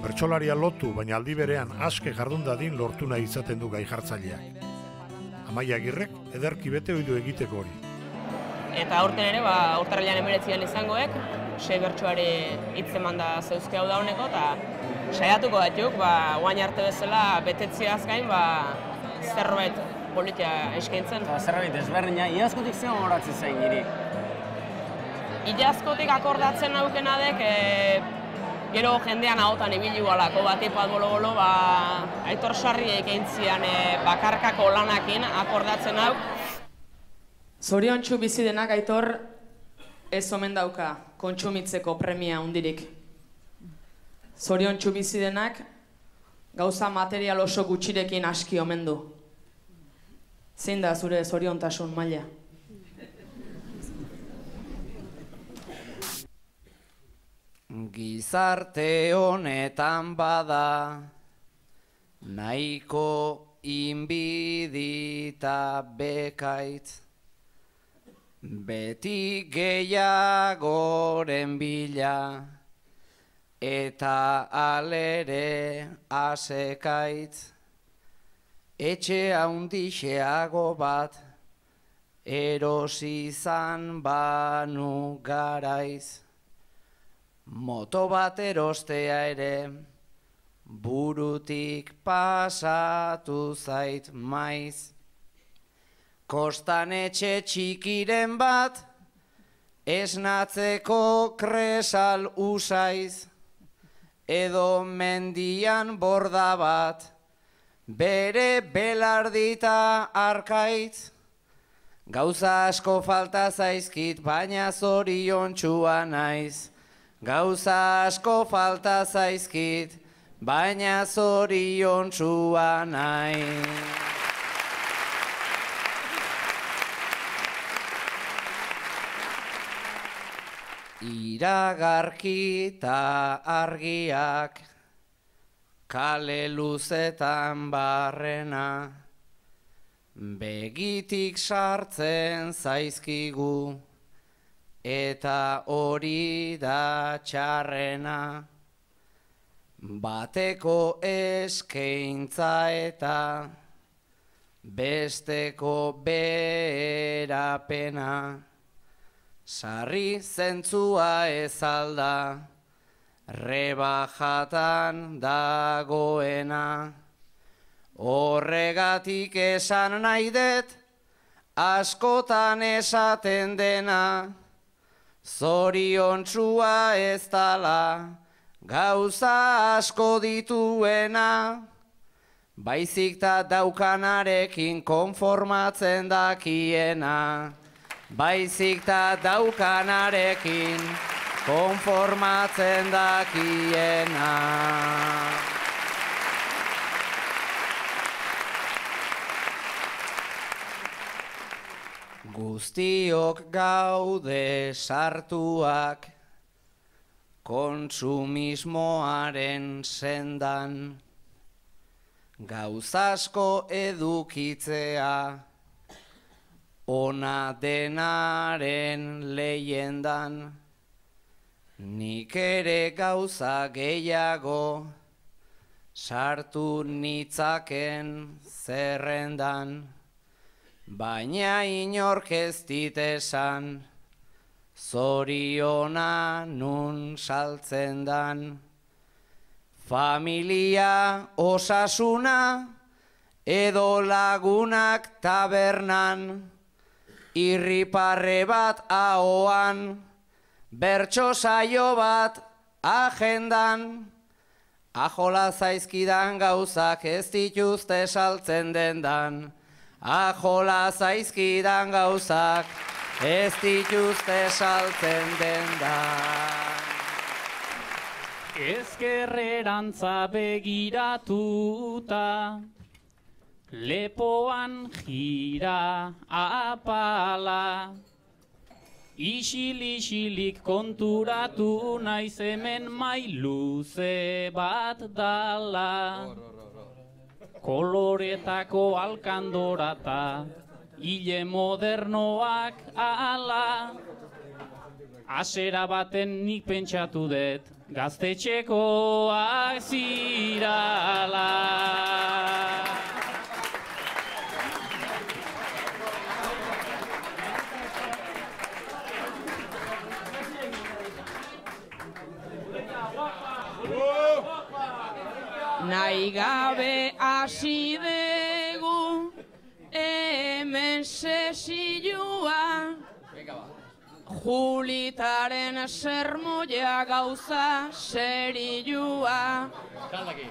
Bertsolaria lotu, baina aldi berean aske jardun dadin lortu nahi izaten du gai jartzaileak. Amaia Agirrek ederki bete ohidu egiteko hori. Eta aurten ere, urtarrilean 19 izangoek, 6 bertsoari hitz emanda zeuzke hau dauneko, eta saiatuko batzuk, guain arte bezala betetziaz gain, zerbait politia eskaintzen. Zerbait ezberdina, iazkotik zer horatzen zain niri? Iazkotik akordatzen naukena dek, gero jendean ahotan ibili gualako batipat bolo-bolo, Aitor Sarriek eintzian bakarkako lanakin akordatzen hau. Zoriontsu bizi denak, Aitor, ez omen dauka kontsumitzeko premia hundirik. Zoriontsu bizi denak, gauza material oso gutxirekin aski omen du. Zein da zure zoriontasun maila? Gizarte honetan bada, nahiko inbidita bekaitz, beti gehiagoren bila, eta alere asekaitz, etxe handixeago bat, erosi izan banu garaiz. Moto bat erostea ere, burutik pasatu zait maiz. Kostan etxe txikiren bat, esnatzeko kresal usaiz. Edo mendian borda bat, bere belardita arkaitz. Gauza asko falta zaizkit, baina zoriontsua naiz. Gauza asko falta zaizkit, baina zoriontsua naiz. Iragarki eta argiak, kale luzetan barrena, begitik sartzen zaizkigu, eta hori da txarrena. Bateko eskaintza eta besteko berapena. Sarri zentzua ez alda, rebajatan dagoena. Horregatik esan nahi dut, askotan esaten dena. Zoriontsua ez dala, gauza asko dituena. Baizik ta daukanarekin konformatzen dakiena. Baizik ta daukanarekin konformatzen dakiena. Guztiok gaude sartuak kontsumismoaren sendan, gauzasko edukitzea ona denaren leyendan. Nik ere gauza gehiago sartu nitzaken zerrendan, baina inork ez dit esan, zoriona nun saltzen dan. Familia osasuna edo lagunak tabernan, irriparre bat ahoan, bertso saio bat agendan. Ajola zaizkidan gauzak ez dituzte saltzen dendan. Ajola zaizkidan gauzak ez dituzte saltzen dendan. Ezkerrerantza begiratuta, lepoan jira apala, isil-isilik konturatu naiz hemen mailuze bat dala. Koloretako alkandorata, hile modernoak ala. Asera baten nik pentsatu dut, gaztetxekoak zirala. Nahi gabe hasi dugu hemen sesioa, Julitaren sermoia gauza serioa,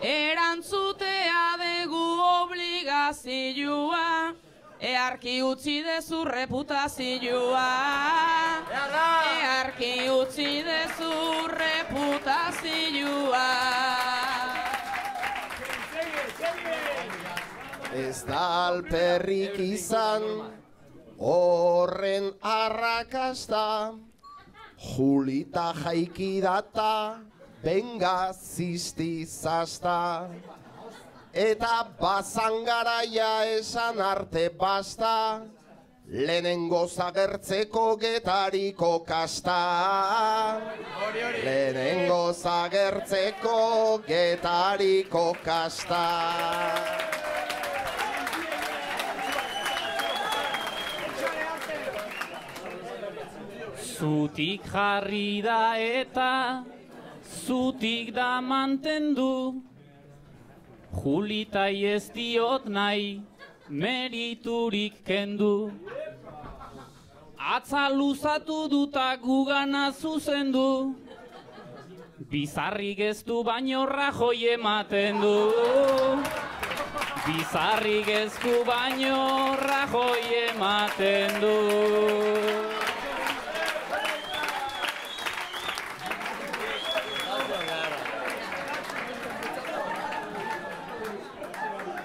erantzutea dugu obligazioa, earki utzi dezu reputazioa, earki utzi dezu reputazioa. Ez da alperrik izan horren arrakasta, Julita jaiki data, benga zizti zasta, eta bazan garaia esan arte basta, lehenengo zagertzeko getariko kasta. Lehenengo zagertzeko getariko kasta. Zutik jarri da eta zutik da mantendu, Julitai ez diot nahi meriturik kendu. Atza luzatu duta gugana zuzendu, bizarrik ez du baino Rajoi ematen du. Bizarrik ez du baino Rajoi ematen du.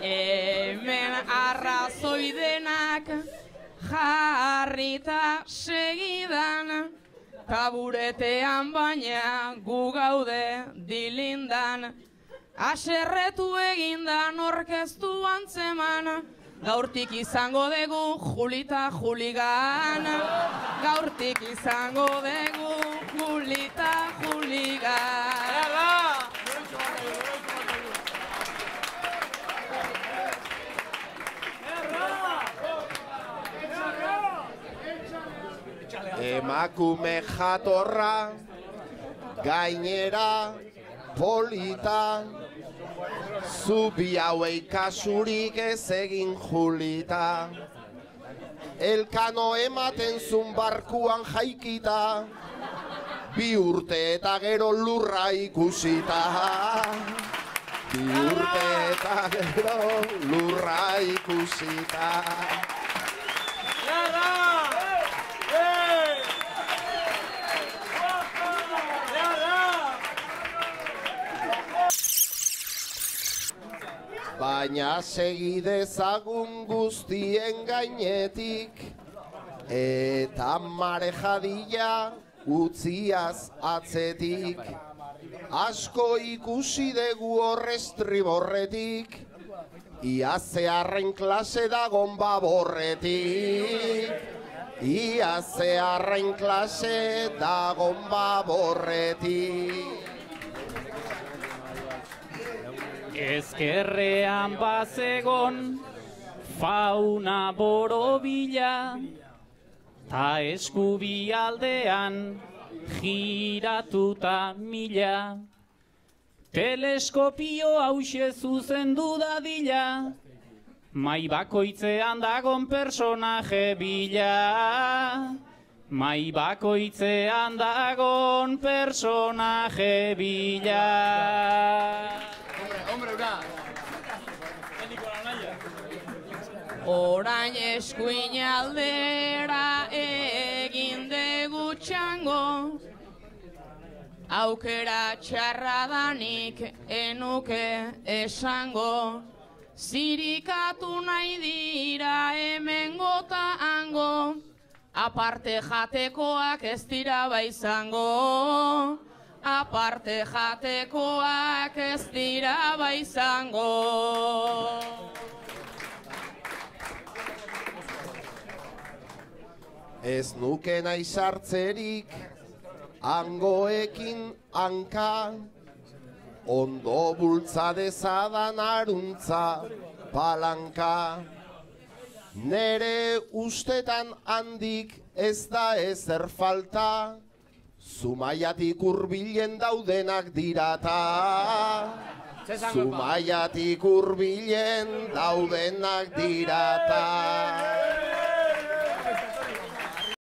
Hemen arrazoi denak jarrita segidan, taburetean baina gu gaude dilindan, aserretu egindan orkestu antzeman, gaurtik izango dugu Julita Juligan, gaurtik izango dugu Julita Juligan. Emakume jatorra, gainera polita, zubi hauei kasurik ez egin Julita. Elkano ematen zun barkuan jaikita, 2 urte eta gero lurra ikusita. 2 urte eta gero lurra ikusita. Baina segi dezagun guztien gainetik, eta marejadila utziaz atzetik. Asko ikusi dugu horrestriborretik, ia zeharren klase dagon baborretik. Ia zeharren klase dagon baborretik. Ezkerrean bazegon fauna borobila, ta eskubi aldean giratuta mila. Teleskopio hause zuzendu dadila, mai bakoitzean dagon personaje bila. Mai bakoitzean dagon personaje bila. Orain eskuin aldera egin dugu txango, aukera txarra danik enuke esango. Zirikatu nahi dira hemen gota hango, aparte jatekoak ez dira baizango. Aparte jatekoak ez dira baizango. Ez nuke nahi sartzerik hangoekin hanka, ondo bultza dezadan aruntza palanka. Nere ustetan handik ez da ezer falta, Zumaiatik hurbilen daudenak dirata. Zumaiatik hurbilen daudenak dirata.